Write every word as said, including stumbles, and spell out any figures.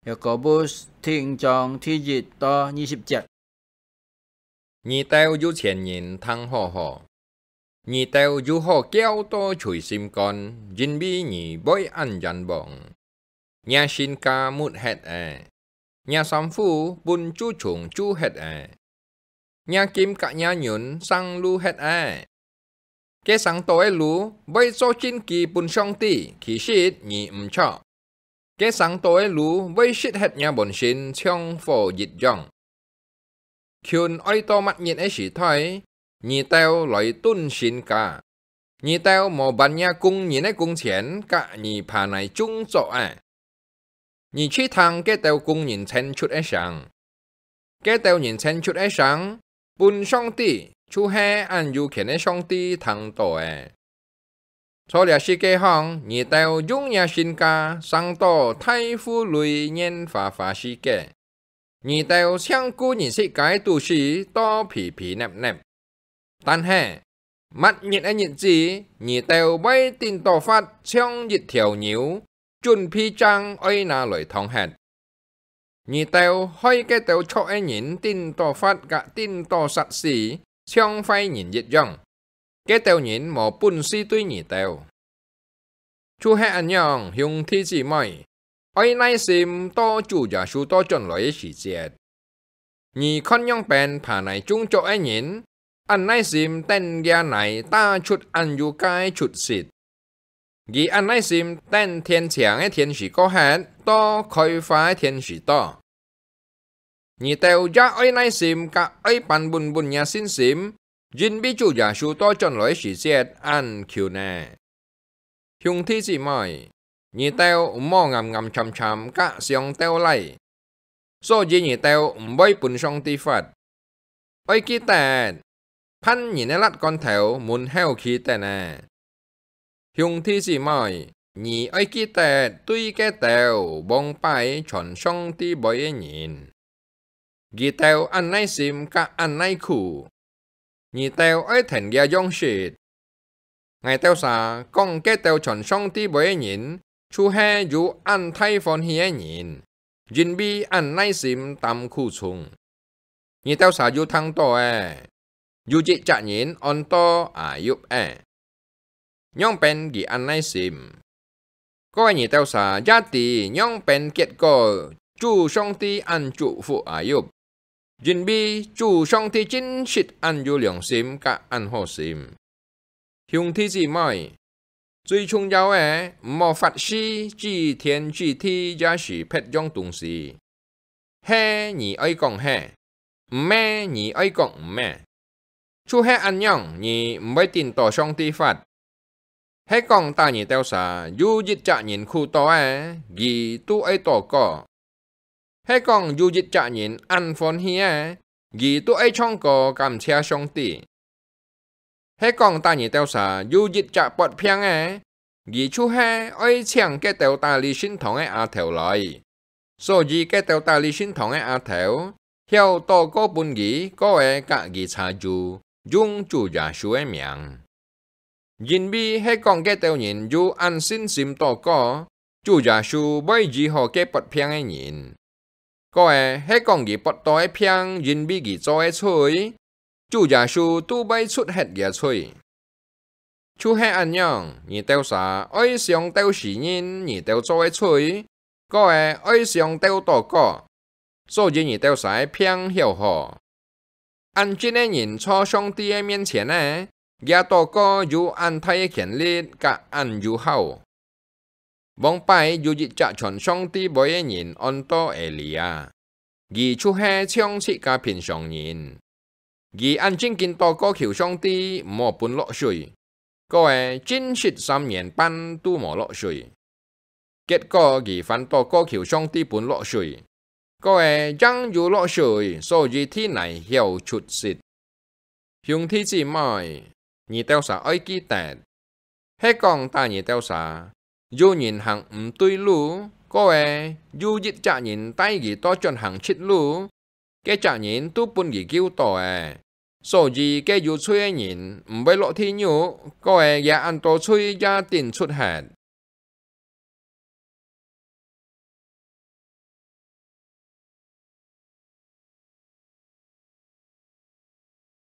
Yakobus第五章第一到二十節。你兜有錢人聽好好，你兜有好噭到捶心肝，因為你會恁冤枉。若身價沒忒了，若衫褲分蛀蟲蛀忒了，若金佮若銀生祿忒了。該生到个祿會做證據分上帝，其實你毋著。該生到个祿會熄忒若本性，像火一樣。近愛到麼日个時代，你兜來蹲身價，你兜無還若工人个工錢佮你耙泥種作仔。你去聽該兜工人遷出个聲，該兜人遷出个聲，分上帝，就係恁有權个上帝聽到了。在這世界項，你兜用若身價生到大戶類，拈花花世界。你兜淨顧你自家个肚屎，到肥肥㪐㪐。但係，末日个日子，你兜會頂到發像一條牛，準備正愛拿來燙忒。你兜害該兜著个人頂到發佮頂到殺死，像壞人一樣。該兜人無本事對你兜。就係恁樣，兄弟姊妹，愛耐心到主耶穌倒轉來个時節。你看仰般耙泥種作个人，恁耐心等厥泥打出恁有價个出息。佢恁耐心等天晴个天時過忒，到開花个天時到。你兜也愛耐心佮愛扳穩穩若信心，因為主耶穌倒轉來个時節恁近了。兄弟姊妹，你兜毋好暗暗沉沉佮相鬥賴，所以你兜毋會分上帝罰。愛記得， 犯人个辣罐頭門口企等了。兄弟姊妹，你愛記得對該兜往擺傳上帝話个人，佢兜恁耐心佮恁耐苦，你兜愛跈厥樣式。 𠊎兜儕講該兜傳上帝話个人，就係有恁大歡喜个人，因為恁耐心擔苦衷。你兜儕有聽到了，有一隻人安到Ayub仔。仰般佢恁耐心？ 各位，你兜儕也知仰般結果主上帝恁祝福Ayub，因為主上帝真實恁有良心佮恁好心。兄弟姊妹，最重要个，毋好發誓指天指地也係別樣東西。係你愛講係，毋係你愛講毋係。就係恁樣，你毋會頂到上帝罰。 係講打你兜儕有一隻人苦到了，佢都愛禱告；係講有一隻人恁歡喜了，佢都愛唱歌感謝上帝；係講打你兜儕有一隻發病了，佢就係愛請該兜打理聖堂个阿頭來， 所以該兜打理聖堂个阿頭，曉禱告分佢，過仔佮佢查住，用主耶穌个名。因為係講該兜人有恁信心禱告，主耶穌會醫好該發病个人。過仔係講佢發到个病，因為佢做个罪，主耶穌都會捽忒厥罪。 就係恁樣，你兜儕愛相鬥承認你兜做个罪，過仔愛相鬥禱告，所以你兜儕个病曉好。恁敬个人在上帝个面前呢，厥禱告有恁大个權力佮恁有效。 往擺有一隻傳上帝話个人安到Êlia，佢就係像自家平常人。佢恁正經禱告求上帝毋好分落水，過仔真實三年半都無落水。結果佢反禱告求上帝分落水，過仔正有落水，所以地泥曉出息。 兄弟姊妹，你兜儕愛記得，係講打你兜儕，有人行毋對路，過仔有一隻人帶佢倒轉行直路，該隻人都分佢救到了。所以該有罪个人毋會落地獄，過仔厥恁多罪也頂捽忒。